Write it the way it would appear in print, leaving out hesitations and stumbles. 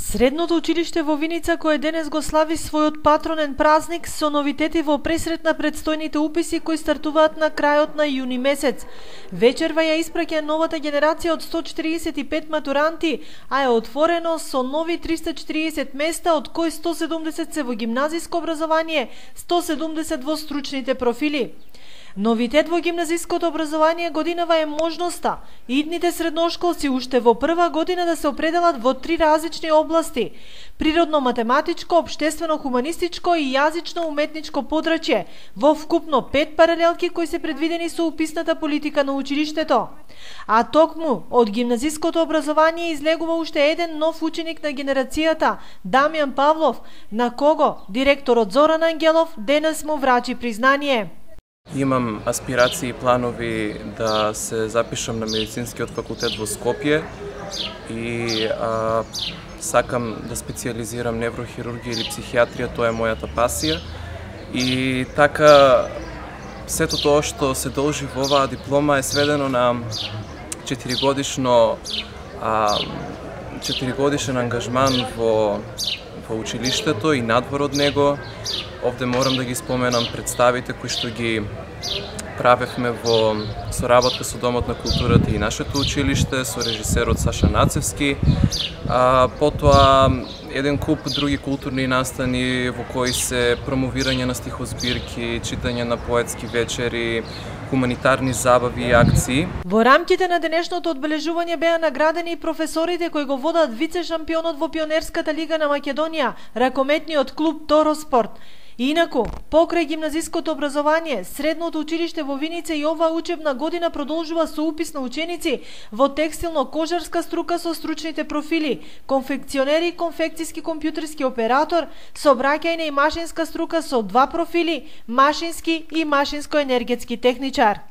Средното училиште во Виница, кое денес го слави својот патронен празник со новитети во пресрет на предстојните уписи кои стартуваат на крајот на јуни месец. Вечерва ја испраќа новата генерација од 145 матуранти, а е отворено со нови 340 места, од кои 170 се во гимназиско образование, 170 во стручните профили. Новитет во гимназиското образование годинава е можноста идните средношколци уште во прва година да се определат во 3 различни области: природно-математичко, општествено-хуманистичко и јазично-уметничко подрачје, во вкупно 5 паралелки кои се предвидени со уписната политика на училиштето. А токму од гимназиското образование излегува уште еден нов ученик на генерацијата, Дамјан Павлов, на кого директорот Зоран Ангелов денес му врачи признание. Имам аспирации и планови да се запишам на медицинскиот факултет во Скопје и сакам да специализирам неврохирургија или психијатрија, тоа е мојата пасија. И така, сето тоа што се должи во оваа диплома е сведено на 4-годишен ангажман во училиштето и надвор од него. Овде морам да ги споменам представите кои што ги правевме во соработка со Домот на културата и нашето училиште, со режисерот Саша Нацевски. Потоа еден куп други културни настани во кои се промовирање на стихозбирки, читање на поетски вечери, хуманитарни забави и акции. Во рамките на денешното одбележување беа наградени и професорите кои го водат вице-шампионот во Пионерската лига на Македонија, ракометниот клуб Тороспорт. Инаку, покрај гимназиското образование, средното училиште во Виница и оваа учебна година продолжува со упис на ученици во текстилно-кожарска струка со стручните профили, конфекционери, конфекцијски компјутерски оператор, сообраќајна и машинска струка со 2 профили, машински и машинско-енергетски техничар.